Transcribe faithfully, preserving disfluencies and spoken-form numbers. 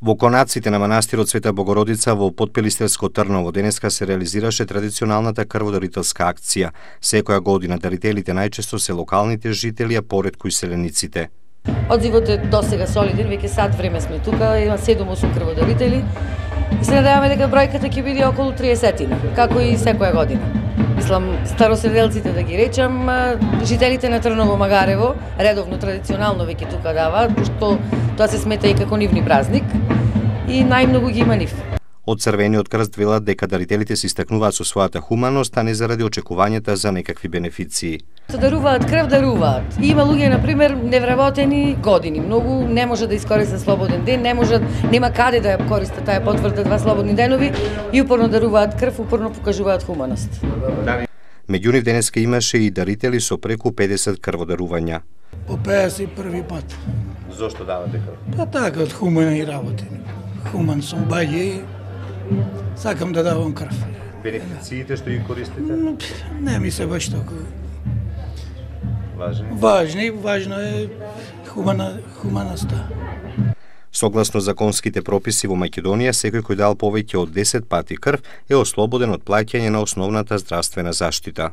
Во конаците на манастирот Света Богородица во Потпилистерско Трново денеска се реализираше традиционалната крводарителска акција. Секоја година дарителите најчесто се локалните жители, а поретку и селениците. Одзивот е досега солиден, веќе сат време сме тука, има седум-осум крводарители и се надеваме дека бројката ќе биде околу триесет, како и секоја година. Мислам, староселелците да ги речам, жителите на Трново Магарево редовно традиционално веќе тука даваат, пошто тоа се смета и како нивни празник и најмногу ги има нив. Од Црвениот крст велат дека дарителите се истакнуваат со својата хуманост, а не заради очекувањата за некакви бенефиции. Се даруваат крв, даруваат. И има луѓе, например, невработени години, многу не може да искористат слободен ден, не можат, нема каде да ја користат таа потврда два слободни денови и упорно даруваат крв, упорно покажуваат хуманост. Меѓу нив денеска имаше и дарители со преку педесет крводарувања. По педесет и први пат. Зошто давате крв? Па така, од хумани работи. Хуман сум баје, сакам да давам крв. Бенефициите што ги користите? Не ми се баш толку важни. Важни, важно е хумана, хуманоста. Согласно законските прописи во Македонија, секој кој дал повеќе од десет пати крв е ослободен од плаќање на основната здравствена заштита.